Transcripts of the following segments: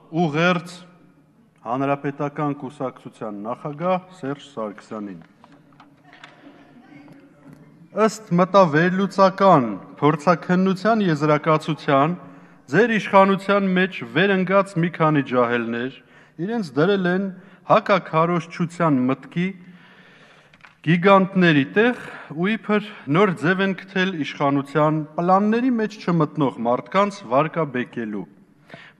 ուղերձ Հանրապետական կուսակցության նախագահ Սերժ Սարգսյանին։ Ըստ մտավերլուծական փորձաքննության եզրակացության ձեր իշխանության մեջ վերընկած մի քանի ջահելներ իրենց դրել են հակաքարոզչության մտքի գիգանտների տեղ ու իբր նոր ձև են գտել իշխանության պլանների մեջ չմտնող մարդկանց վարկաբեկելու։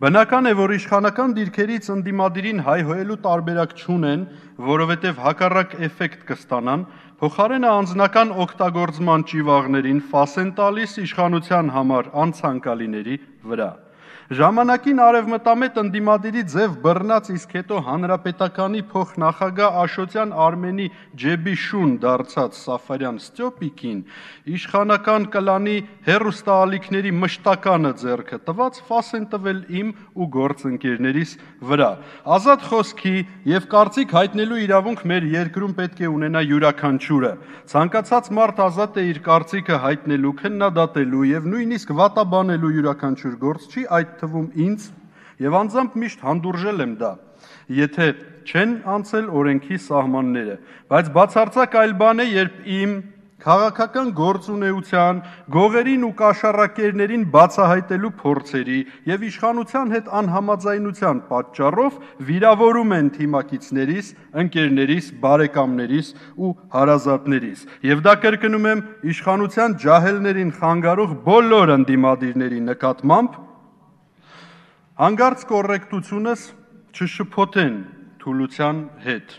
Բնական է, որ իշխանական դիրքերից ընդդիմադիրին հայհոյելու տարբերակ չունեն, որովհետև հակառակ էֆեկտ կստանան, փոխարենը անձնական օգտագործման ճիվաղներին ֆաս են տալիս իշխանության համար անցանկալիների վրա։ Ժամանակին արևմտամետ ընդդիմադիրի ձև բռնած, իսկ հետո հանրապետականի փոխնախագահ Աշոտյան Արմենի ջեբի շուն դարձած Սաֆարյան Ստյոպիկին իշխանական կլանի հեռուստաալիքների մշտականը ձեռքը տված ֆաս են տվել իմ ու գործընկերներիս վրա։ Ազատ խոսքի եւ կարծիք հայտնելու իրավունք մեր երկրում պետք է ունենա յուրաքանչյուրը։ Ցանկացած մարդ ազատ է իր կարծիքը հայտնելու, քննադատելու եւ նույնիսկ վատաբանելու յուրաքանչյուր գործ չի, այդ թվում ինձ եւ անձամբ միշտ հանդուրժել եմ դա, եթե չեն անցել օրենքի սահմանները, բայց բացարձակ այլ բան է, երբ իմ քաղաքական գործունեության, գողերին ու կաշառակերներին բացահայտելու փորձերի եւ իշխանության հետ անհամաձայնության պատճառով վիրավորում են թիմակիցներիս, ընկերներիս, բարեկամներիս ու հարազատներիս։ Եվ դա կրկնում եմ իշխանության ջահելներին խանգարող բոլոր ընդդիմադիրների նկատմամբ հանգարց կոռեկտությունս չշփոթեն թուլության հետ։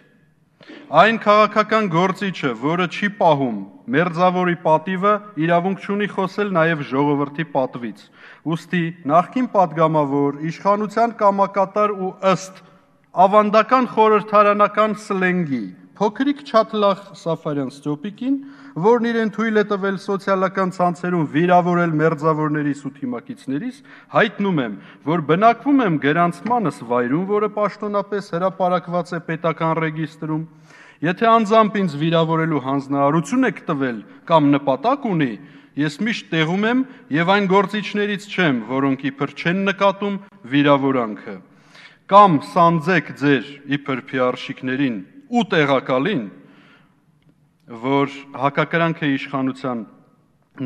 Այն քաղաքական գործիչը, որը չի պահում մերձավորի պատիվը, իրավունք չունի խոսել նաև ժողովրդի պատվից։ Ուստի նախկին падգամավոր, իշխանության կամակատար ու ըստ ավանդական խորհրդարանական սլենգի փոքրիկ չաթլախ Սաֆարյան Ստյոպիկին, որն իրեն թույլ է տվել սոցիալական ցանցերում վիրավորել մերձավորներիս ու թիմակիցներիս, հայտնում եմ, որ բնակվում եմ գրանցմանս վայրում, որը պաշտոնապես հրապարակված է պետական ռեգիստրում։ Եթե անձամբ ինձ վիրավորելու հանձնարարություն եք տվել կամ նպատակ ունի, ես միշտ տեղում եմ եւ այն գործիչներից չեմ, որոնք իբր չեն նկատում վիրավորանքը։ Կամ սանձեք ձեր իբր փիարշիկներին ու տեղակալին, որ հակակրանք է իշխանության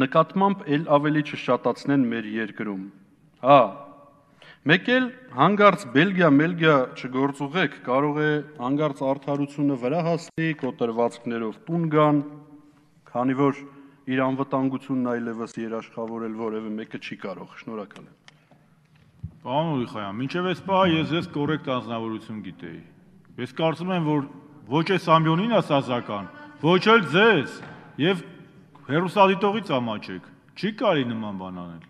նկատմամբ էլ ավելի չշատացնեն մեր երկրում։ Հա, մեկ էլ հանգարց Բելգիա չգործուղեք, կարող է հանգարց արդարությունը վրա հասնի, կոտրվածքներով տուն գան, քանի որ իր անվտանգությունն այլևս երաշխավորել որևէ մեկը չի կարող։ Շնորհակալ եմ։ Պարոն Ուրիխայան, մինչև այս պահը ես կոռեկտ անձնավորություն գիտեի։ Ես կարծում եմ, որ ոչ այս ամբիոնին ասազական, ոչ էլ ձեզ, եւ հեռուստադիտողից ամաչեք, չի կարելի նման բան անել։